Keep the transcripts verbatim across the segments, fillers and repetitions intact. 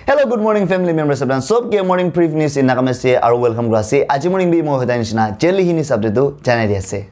Hello, good morning, family members. Apni sob ke morning brief news in Nagamese aru welcome kura ase. Aji morning bi moi hodai nishina jelly hini sabde tu janai di ase.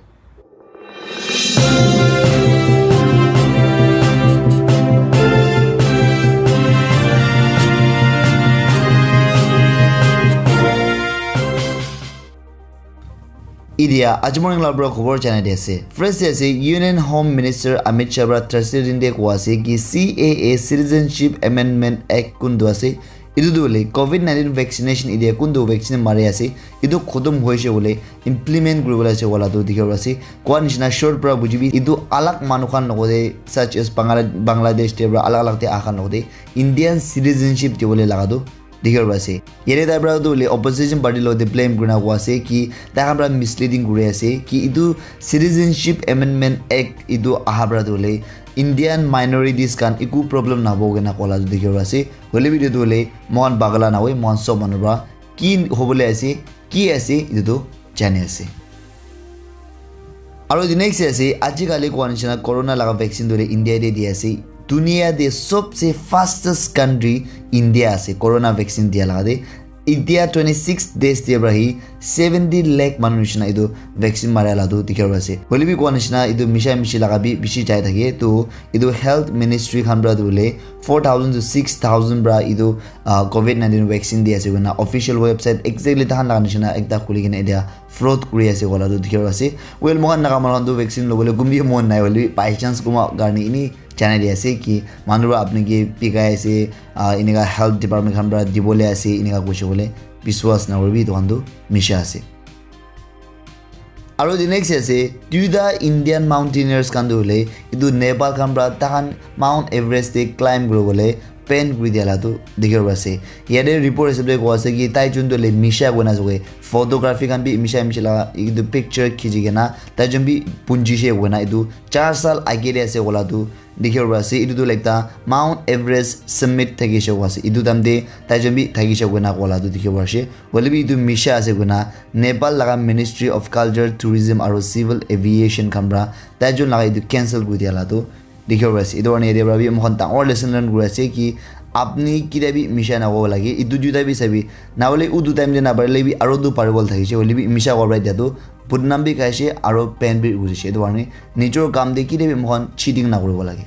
Idia, aji morning la pura khobor janai di ase. First te ase, Union Home Minister Amit Shah pra Thursday din te koa ase ki C A A Citizenship Amendment Act kuntu ase. Etu tu hoile covid nineteen vaccination idia kuntu vaccine mari ase. Etu khotom hoise hoile implement kuribole ase wala tu dikhi ase. Koa nishina short pra bujibi, etu alag manu khan logode, such as Bangla-, Bangladesh te pra alag alag te aha khan logode Indian citizenship dibole laga tu dikhi pai ase. Yate tai pra tu hoile opposition party lo te blame kurina koa ase ki tai khan pra misleading kuri ase ki etu Citizenship Amendment Act etu aha pra tu hoile Indian minorities khan eku problem nabo kena koa la tu dikhi pai ase. Hoile bi etu tu hoile mohan bagala na hoi, mohan sob manu pra ki hobole ase, ki ase, etu tu jani ase. Aru the next ase, ajikali koa nishina corona laga vaccine tu hoile India te di ase. Dunia te sobse fastest country India ase corona vaccine dia laga te. India twenty six days te pra hi seventy lakh manu nishina etu vaccine mara la tu dikhi pai ase. Hoile bi koa nishina etu misha mishi laga bi bishi jai thake. Tu etu health ministry khan pra tu hoile four thousand to six thousand pra etu ah, covid nineteen vaccine di ase koina official website exactly tahan laga nishina ekta khuli kena etia fraud kuri ase koa la tu dikhi pai ase. Well, mohan Naga manu khan tu vaccine lobole kumbi mon nai hoile bi by chance kuma karne ini janai di ase ki manu pra apni ke bikai ase, ah, inika health department khan pra dibole ase inika koise bole biswas na kuribi etu khan tu misha ase. Aru the next ase, duita Indian mountaineers khan tu hoile etu Nepal khan pra tahan Mount Everest te climb kuribole ban kuri dia la tu dikhi pai ase. Yate report hisab te koa ase ki tai jun tu hoile misha koina ase koa, photography khan bi misha misha laga etu picture khichi kena tai jun bi punji she koina etu char sal age te ase koa la tu dikhi pai ase. Etu tu hoile ekta Mount Everest summit thakishe koa ase. Etu time te tai jun bi thakishe koina koa la tu dikhi pai ase. Hoile bi etu misha ase koina Nepal laga Ministry of Culture, Tourism aru Civil Aviation khan pra tai jun laga etu cancel kuri dia la tu dikhi pai ase. Etu karne yate pra bi moikhan dangor lesson learn kuri ase ki apni ketia bi misha nakobo lage. Etu duita bi sabi, na hoile utu time te naparile bi aru tu paribole thakishe, hoile bi misha koa pra dia tu bodnam bi khaishe aru ban bi kurishe. Etu karne nijor kam te ketia bi moikhan cheating nakuribo lage.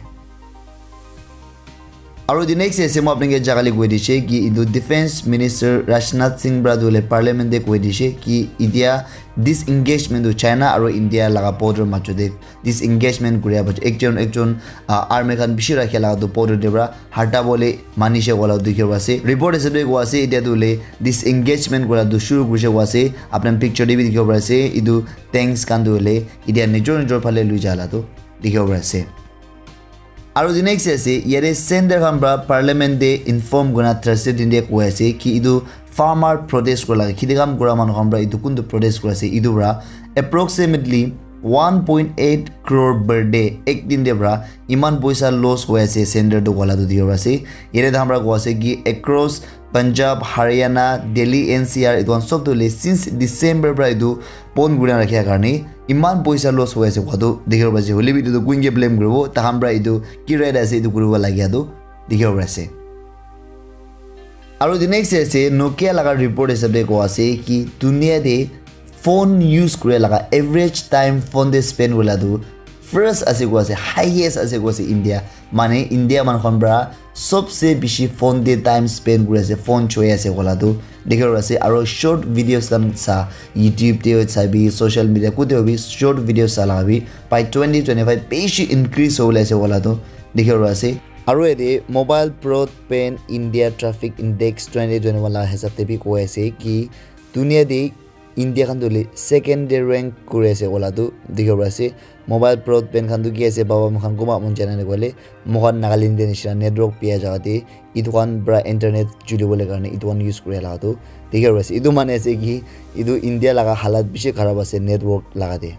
Aru the next ase, moi apni ke jaga le koi dishe ki etu Defense Minister Rajnath Singh pra tu hoile Parliament te koi dishe ki etia disengagement tu China aru India laga border majo te disengagement kuria bacha ekjon ekjon, ah, army khan bishi rakhi laga tu border te pra hata bole manishe koa la dikhi pai ase. Report hisab te koa ase etia tu hoile disengagement kura tu shuru kurishe koa ase. Apni picture te bi dikhi pai ase etu tanks khan tu hoile etia nijor nijor phale lui ja la tu dikhi pai ase. Aru the next ase, yate center khan pra parliament te inform kurina Thursday din te koi ase ki etu farmer protest kura laga, kheti kam kura manu khan pra etu kuntu protest kura ase, etu pra approximately one point eight crore per day ek din te pra iman poisa loss hoi ase center tu koa la tu dikhi pai ase. Yate tahan pra koi ase ki across Punjab, Haryana, Delhi, N C R, etu khan sob tu hoile since December pra etu pon kurina rakhia karne iman poisa loss hoi ase koa tu dikhi pai ase. Hoile bi etu tu kuinke blame kuribo, tahan pra etu ki right ase etu kuribo lagia tu dikhi pai ase. Aru the next ase, Nokia laga report hisab te koa ase ki dunia te phone use kure laga average time phone te spend kura la tu first ase koa ase, highest ase koa ase India. Mane India manu khan pra sobse bishi phone te time spend kuri ase, phone choi ase koa la tu dikhi pai ase. Aru short videos khan sa, YouTube te sabi, social media kute bi short videos sa laga bi by twenty twenty-five bishi increase hobole ase koa la tu dikhi pai ase. Aru yate Mobile Broadband India Traffic Index twenty twenty-one laga hisab te bi koi ase ki dunia te India khan tu hoile second te rank kuri ase koa la tu dikhi pai ase. Mobile broadband khan tu ki ase baba, moikhan kunba mon jana nakoile, moikhan Nagaland te nishina network bia jaga te etu khan pra internet chulibole karne etu khan use kuri laga tu dikhi pai ase. Etu mane ase ki etu India laga halat bishi kharab ase network laga te.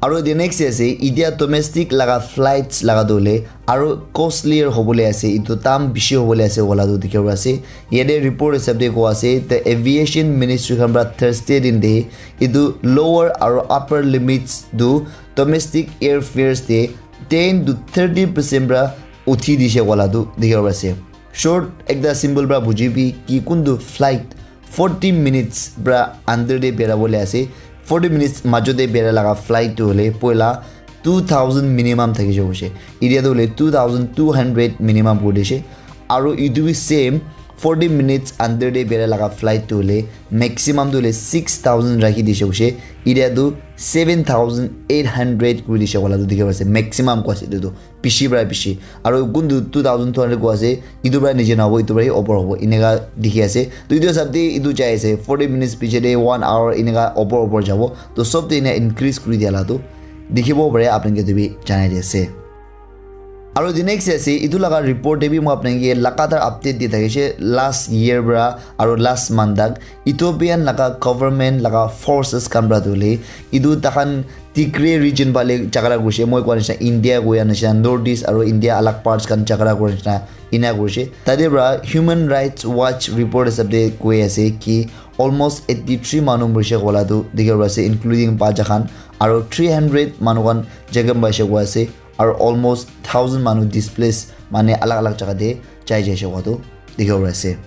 Aru the next ase, etia domestic laga flights laga tu hoile aru costlier hobole ase, etu dam bishi hobole ase koa la tu dikhi pai ase. Yate report hisab te koa ase, the aviation ministry khan pra Thursday din te etu lower aru upper limits tu domestic airfares te ten to thirty percent pra uthi dishe koa la tu dikhi pai ase. Short ekta symbol pra bujibi ki kuntu flight forty minutes pra under te bera bole ase. Forty minutes majo te bera laga flight tu hole poila two thousand minimum thaki jabo she. Idia tu hole two thousand two hundred minimum kuri dishe. Aru itu bi same forty minutes under te bera laga flight tu hole maximum tu hole six thousand rakhi dishe she. Idia tu seven thousand eight hundred kuri dishe wala tu dikhi ase, maximum ko ase itu tu. Bishi pra bishi. Aru kuntu two thousand two hundred ko ase, itu pra nije nahabo, itu pra hi opor hobo. Eneka dikhi ase. To itu hisab te itu jai ase. Forty minutes piche te one hour eneka opor opor jabo. To sob te ena increase kuri dia la tu dikhibo pare, apni ke tu bi janai di ase. Aru the next ase, itu laga report te bi moi apni ke lagatar update di thakishe last year pra aru last month tak Ethiopian laga government laga forces khan pra tu hole itu takhan Tigray region phale jhagara kurishe, moi koa nishina India koa nishina North East aru India alag parts khan jhagara kura nishina ena kurishe. Tate pra Human Rights Watch report hisab te koi ase ki almost eighty three manu murishe koa la tu dikhi ase, including bacha khan, aru three hundred manu khan jakham paishe koa ase, aru almost thousand manu displace mane alag alag jaga te jai jaishe koa tu dikhi ase.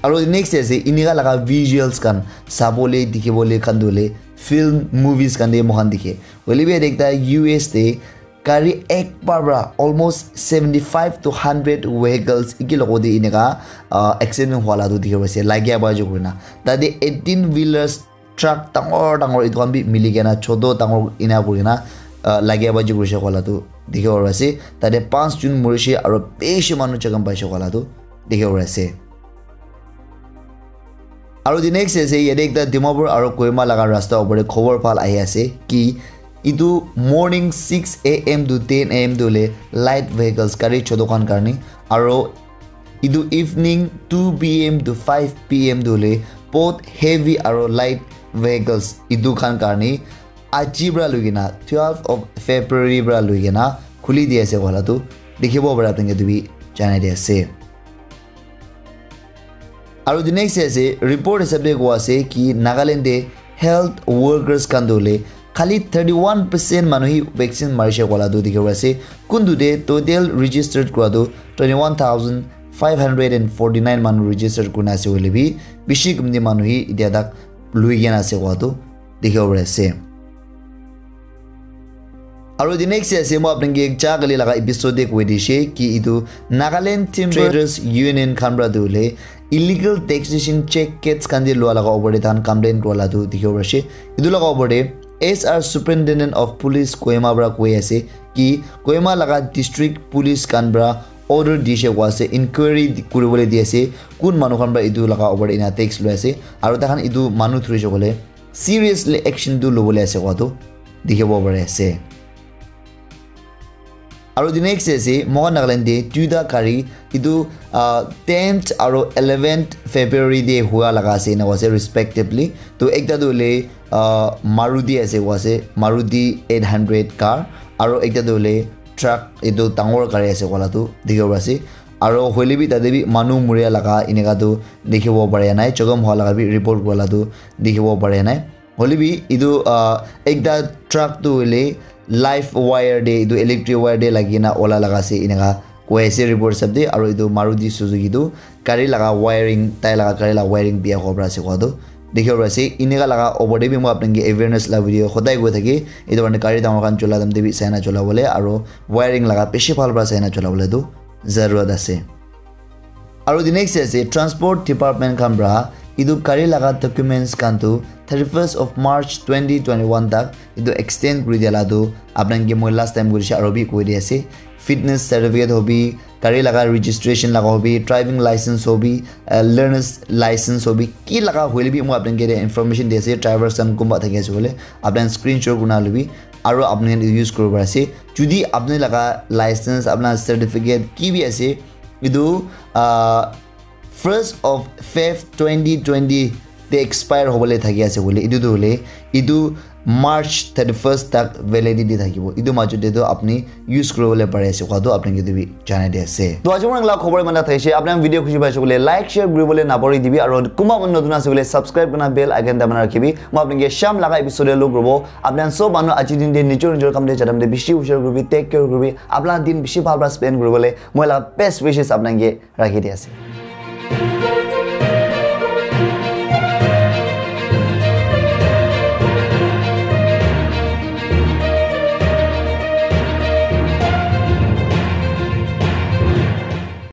Aru next ase, eneka laga visuals khan sabole dikhibole khan tu hole film movies khan te moikhan dikhe. Hoile bi yate ekta U S te gari ek bar pra almost seventy five to hundred vehicles eki logote eneka, ah, accident hua la tu dikhi ase, lagia bar jo kurina. Tate eighteen wheelers truck dangor dangor etu khan bi mili kena choto dangor ena kuri kena, ah, lagia baji kurishe koa la tu dikhi bo pari ase. Tate panch jun murishe aru bishi manu jakham paishe koa la tu dikhi bo pari ase. Aru the next ase, yate ekta Dimapur aru Kohima laga rasta opor te khobor bhal ahi ase ki etu morning six A M to ten A M tu hole light vehicles gari choto khan karne aru etu evening two P M to five P M tu hole both heavy aru light vehicles etu khan karne aji pra loi kena twelve of February pra loi kena khuli di ase koa la tu dikhibo pare, apni khan ke etu bi janai di ase. Aru the next ase, report hisab te koa ase ki Nagaland te health workers khan tu hole khali thirty one percent manu hi vaccine marishe koa la tu dikhi ase. Kuntu te total registered kura tu twenty one thousand five hundred and forty nine manu registered kurina ase hoile bi bishi kumti manu hi etia tak lui kena ase koa tu dikhi bo pari ase. Aru the next ase, moi apni ke ja kali laga episode te koi dishe ki etu Nagaland Timber Traders Union khan pra tu hole illegal taxation check gates khan te lua laga opor te tahan complain kura la tu dikhi bo pari ase. Etu laga opor te S R Superintendent of Police Kohima pra koi ase ki Kohima laga district police khan pra order dishe koa ase, inquiry di-, kuribole di ase, kun manu khan pra etu laga opor te ena tax loi ase, aru tahan etu manu thurishe koile seriously action tu lobole ase koa tu dikhibo pari ase. Aru the next ase, moikhan Nagaland te duita gari etu, ah, tenth aru eleventh February te hua laga ase, ena koa ase respectively. To ekta tu hole, ah, Maruti ase koa ase, Maruti eight hundred car, aru ekta tu hole truck, etu dangor gari ase koa la tu dikhibo pari ase. Aru hoile bi tate bi manu muria laga eneka tu dikhibo pari nai, jakham hua laga bi report kura la tu dikhibo pari nai. Hoile bi etu, ah, ekta truck tu hole live wire te, etu electric wire te lagi kena ola laga ase eneka koi ase report hisab te. Aru etu Maruti Suzuki tu gari laga wiring, tai laga gari laga wiring biya hobo pari ase koa tu dikhibo pari ase. Eneka laga opor te bi moi apni ke awareness la video hodai koi thake. Etu karne gari dangor khan chola time te bi sai na chola bole aru wiring laga bishi bhal para sai na chola bole tu zarurat ase. Aru the next ase, transport department khan pra etu gari laga documents khan tu thirty first of March twenty twenty one tak etu extend kuri dia la tu apni khan ke moi last time kuri se aru bi koi di ase. Fitness certificate hobi, gari laga registration laga hobi, driving license hobi, uh, learner's license hobi, ki laga hoile bi moi apni khan ke information di ase. Drivers khan kunba thaki ase koile apni khan screenshot kurina lobi aru apni khan use kuribo pari ase. Jodi apni laga license, apni certificate ki bi ase, etu, ah, first of Feb twenty twenty te expire hobole thaki ase koile, etu tu hoile etu, March thirty first tak validity thakibo. Etu majot te tu apni use kuribole pari ase koa tu apni ke tu bi janai di ase. To aji mon la khobor manda thaise, apni video khushi paise bole like share kuribole napori dibi, aro kuma mon notun ase bole subscribe kurna bell icon dabana rakhibi. Mo apni ke sham laga episode lo kurbo. Apni sob manu aji din de nijor nijor kam de jadam de bishi hushar kuribi, take care kuribi. Apna din bishi bhal para spend kuribole moi la best wishes apni ke rakhi di ase.